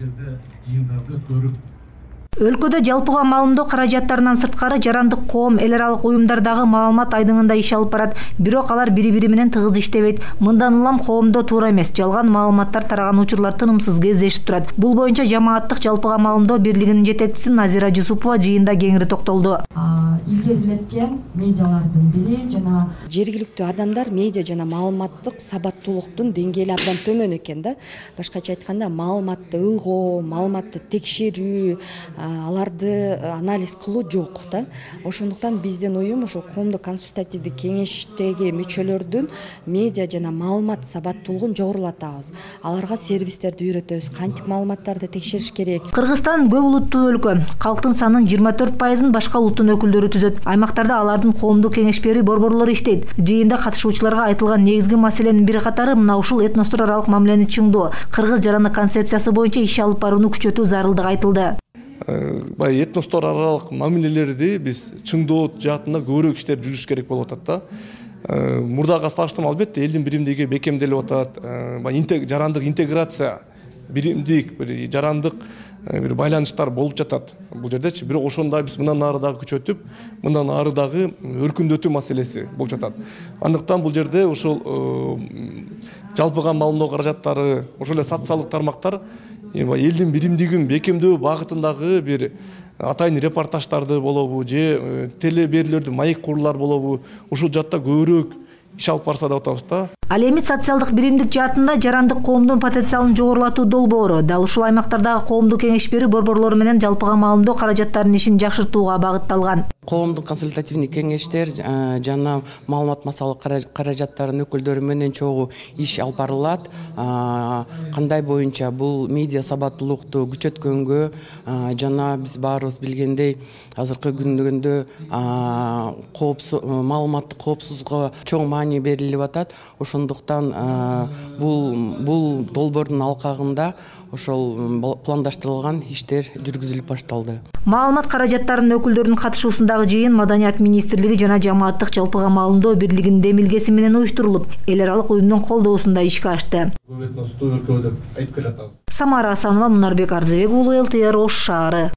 жерде жыйындарды көрүп. Өлкөдө жалпыга маалымдоо каражаттарынан сырткары жарандык коом, эл аралык уюмдардагы маалымат айдыңында иш алып барат. Бирок алар бири-бири менен тыгыз иштебейт. Мындан улам коомдо туура эмес, жалган маалыматтар тараган учурлар тынымсыз кездешип турат. Бул боюнча жамааттык жалпыга маалымдоо бирлигинин жетекчиси Назира Жусупова жыйында кеңири токтолду. Илгерилеткен медиалардын бири жана жергиликтүү адамдар медиа жана маалыматтык сабаттуулуктун деңгээли абдан төмөн экен да. Башкача айтканда, маалыматты ылгоо, маалыматты текшерүү, аларды анализ кылуу жок да. Ошондуктан биздин уюм ошол коомдук консультативдик кеңештеги мүчөлөрдүн медиа жана маалымат сабаттуулугун жогорулатабыз. Аларга сервистерди үйрөтөбүз, кантип маалыматтарды текшериш керек. Кыргызстан көп улуттуу өлкө. Калктын санынын 24% башка улуттун өкүлдөрү түзөт. Аймактарда алардын коомдук кеңеш берүү борборлору иштейт. Жыйында катышуучуларга айтылган негизги маселенин бир катары мына ушул этностор аралык мамилени чыңдоо, кыргыз жарандык концепциясы боюнча иш алып барууну күчөтүү зарылдыгы айтылды. Бай этностор аралык мамилелерди биз чыңдоо жаатында көбүрөөк иштер жүрүш керек болуп атат да. Мурдага салыштырмалуу албетте элдин биримдиги бекемделип атат. Жарандык интеграция, биримдик, бир жарандык бир байланыштар болуп жатат бул жердечи. Бирок ошондо биз мындан ары дагы күчөтүп, мындан ары дагы өркүндөтүү маселеси болуп жатат. Андыктан бул жерде ошол жалпыга маалымдоо каражаттары, ошол эле социалдык тармактар элдин биримдигин бекемдөө багытындагы бир атайын репортаждарды болобу же телеберүүлөрдү маек куруулар болобу, ушул жакта көбүрөөк иш алып барса деп атабыз да. Ал эми социалдык биримдик жаатында жарандык коомдун потенциалын жогорулатуу долбоору дал ушул аймактардагы коомдук кеңеш берүү борборлору менен жалпыга маалымдоо каражаттарынын ишин жакшыртууга багытталган. Коомдук консультативдик кеңештер жана маалымат массалык каражаттарынын өкүлдөрү менен чогуу иш алып барылат. Кандай боюнча бул медиа сабаттуулукту күчөткөнгө жана биз баарыбыз билгендей азыркы күндө маалыматтык коопсуздукка чоң маани берилип атат. Ошондуктан бул долбоордун алкагында ошол пландаштырылган иштер жүргүзүлүп башталды. Маалымат каражаттарынын өкүлдөрүнүн катышуусундагы жыйын Маданият министрлиги жана жамааттык жалпыга маалымдоо бирлигинин демилгеси менен уюштурулуп, эл аралык уюмдун колдоосунда ишке ашты. Көп этностуу өлкө деп айтып келатабыз. Самара Асанова, Мунарбек Арзыбек уулу, ЛТР Ош шаары.